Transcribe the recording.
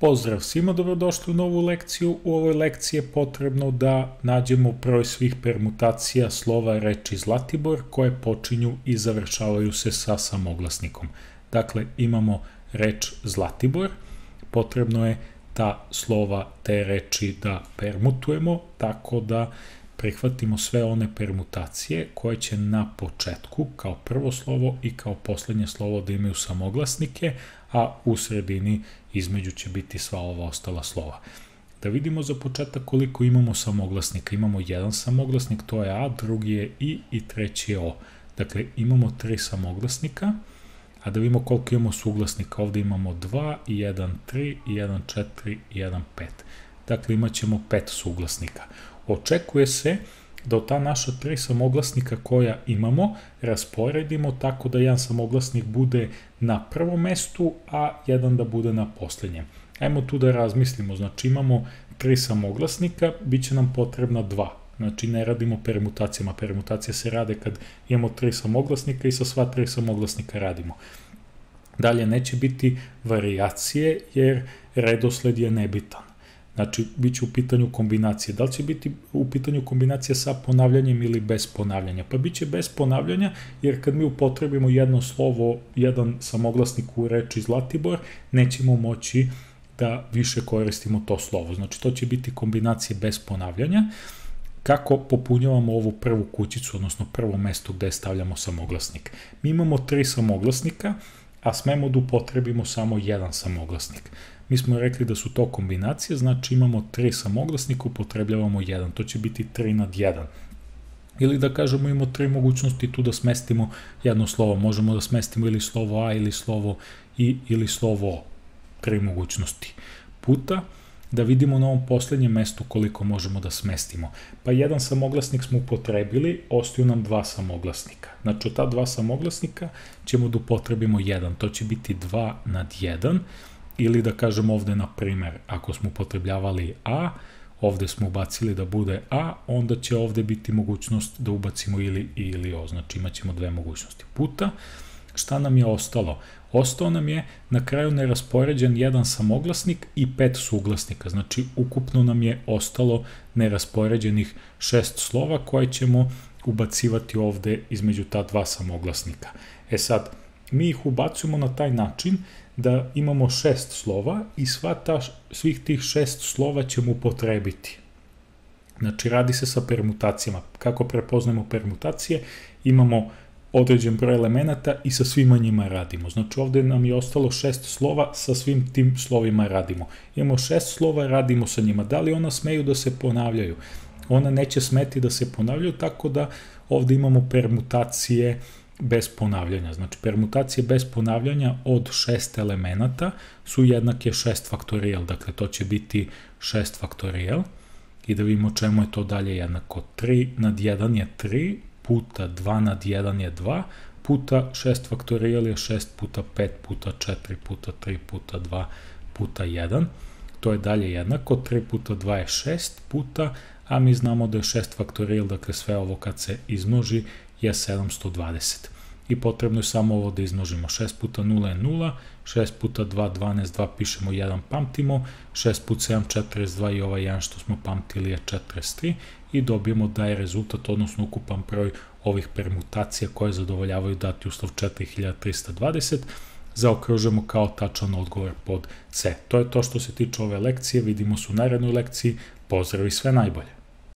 Pozdrav svima, dobrodošli u novu lekciju. U ovoj lekciji je potrebno da nađemo broj svih permutacija slova reči Zlatibor koje počinju i završavaju se sa samoglasnikom. Dakle, imamo reč Zlatibor, potrebno je ta slova te reči da permutujemo, tako da prihvatimo sve one permutacije koje će na početku kao prvo slovo i kao poslednje slovo da imaju samoglasnike, a u sredini između će biti sva ova ostala slova. Da vidimo za početak koliko imamo samoglasnika. Imamo jedan samoglasnik, to je A, drugi je I treći je O. Dakle, imamo 3 samoglasnika, a da vidimo koliko imamo suglasnika. Ovde imamo 2, 1, 3, 1, 4, 1, 5. Dakle, imat ćemo 5 suglasnika. Očekuje se da od ta naša 3 samoglasnika koja imamo rasporedimo tako da jedan samoglasnik bude na prvom mestu, a jedan da bude na poslednjem. Ajmo tu da razmislimo, znači imamo 3 samoglasnika, bit će nam potrebna 2. Znači ne radimo permutacijama, permutacije se rade kad imamo 3 samoglasnika i sa sva 3 samoglasnika radimo. Dalje, neće biti varijacije jer redosled je nebitan. Znači, bit će u pitanju kombinacije. Da li će biti u pitanju kombinacija sa ponavljanjem ili bez ponavljanja? Pa bit će bez ponavljanja, jer kad mi upotrebimo jedno slovo, jedan samoglasnik u reči Zlatibor, nećemo moći da više koristimo to slovo. Znači, to će biti kombinacije bez ponavljanja. Kako popunjavamo ovu prvu kućicu, odnosno prvo mesto gde stavljamo samoglasnik? Mi imamo 3 samoglasnika, a smemo da upotrebimo samo jedan samoglasnik. Mi smo rekli da su to kombinacije, znači imamo 3 samoglasnika, upotrebljavamo jedan, to će biti 3 nad 1. Ili da kažemo imamo 3 mogućnosti tu da smestimo jedno slovo, možemo da smestimo ili slovo A ili slovo I ili slovo O, 3 mogućnosti. Puta, da vidimo na ovom poslednjem mestu koliko možemo da smestimo. Pa jedan samoglasnik smo upotrebili, ostaju nam 2 samoglasnika. Znači od ta 2 samoglasnika ćemo da upotrebimo jedan, to će biti 2 nad 1, ili da kažemo ovde, na primer, ako smo upotrebljavali A, ovde smo ubacili da bude A, onda će ovde biti mogućnost da ubacimo ili I ili O, znači imat ćemo 2 mogućnosti. Puta, šta nam je ostalo? Ostao nam je na kraju neraspoređen jedan samoglasnik i 5 suglasnika, znači ukupno nam je ostalo neraspoređenih 6 slova koje ćemo ubacivati ovde između ta 2 samoglasnika. E sad, mi ih ubacujemo na taj način da imamo 6 slova i svih tih 6 slova ćemo upotrebiti. Znači, radi se sa permutacijama. Kako prepoznajemo permutacije? Imamo određen broj elemenata i sa svima njima radimo. Znači, ovde nam je ostalo 6 slova, sa svim tim slovima radimo. Imamo 6 slova, radimo sa njima. Da li ona smeju da se ponavljaju? Ona neće smeti da se ponavljaju, tako da ovde imamo permutacije bez ponavljanja. Znači, permutacije bez ponavljanja od 6 elemenata su jednake 6 faktorijal. Dakle, to će biti 6 faktorijal. I da vidimo čemu je to dalje jednako. 3 nad 1 je 3, puta 2 nad 1 je 2, puta 6 faktorijal je 6 puta 5 puta 4 puta 3 puta 2 puta 1. To je dalje jednako. 3 puta 2 je 6 puta, a mi znamo da je 6 faktorijal, dakle sve ovo kad se izmnoži je 720. I potrebno je samo ovo da izmnožimo. 6 puta 0 je 0, 6 puta 2, 12, 2 pišemo 1, pamtimo, 6 puta 7, 42 i ovaj 1 što smo pamtili je 43 i dobijemo da je rezultat, odnosno ukupan broj ovih permutacija koje zadovoljavaju dati uslov 4320, zaokružujemo kao tačan odgovor pod C. To je to što se tiče ove lekcije, vidimo se u narednoj lekciji, pozdrav i sve najbolje!